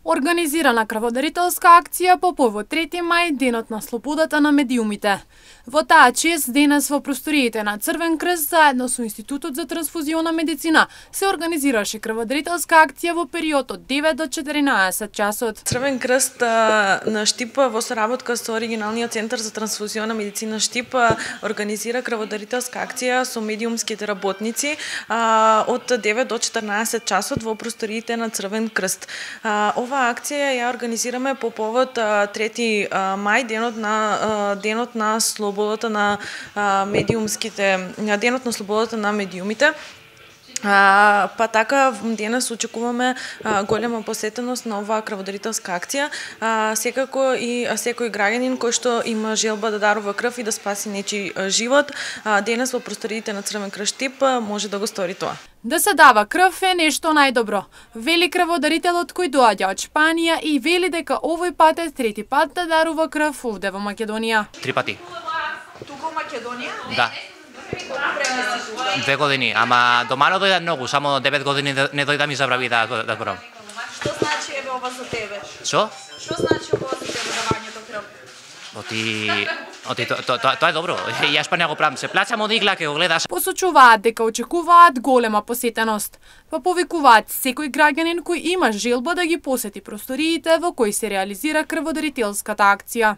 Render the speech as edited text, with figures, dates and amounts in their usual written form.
Организирана крводарителска акција по повод 3 мај, денот на слободата на медиумите. Во таа чест денес во просториите на Црвен крст заедно со Институтот за трансфузиона медицина се организираше крводарителска акција во период од 9 до 14 часот. Црвен крст на Штип во соработка со оригиналниот центар за трансфузиона медицина Штип организира крводарителска акција со медиумските работници од 9 до 14 часот во просториите на Црвен крст. Ова акција ја организираме по повод 3 мај, денот на слободата на медиумските, денот на слободата на медиумите. Па така денес очекуваме голема посетеност на оваа крводарителска акција. Секако и секој граѓанин кој што има желба да дарува крв и да спаси нечи живот, денес во просториите на Црвен крст Штип може да го стори тоа. Да се дава крв е нешто најдобро. Вели крводарителот кој доаѓа од Шпанија и вели дека овој пат е 3ти пат да дарува крв овде во Македонија. 3 пати. Тука во Македонија? Да. 2 години, ама домано дојдам многу, само 9 години не дојдам и забрави да зборам. Што значи еве ова за тебе? Што? Што значи ова за тебе давањето крв? Тоа е добро. Ја Шпанија го правам, се плаќам од игла ке го гледаш. Посочуваат дека очекуваат голема посетеност. Па повикуваат секој граѓанин кој има желба да ги посети просториите во кои се реализира крводарителската акција.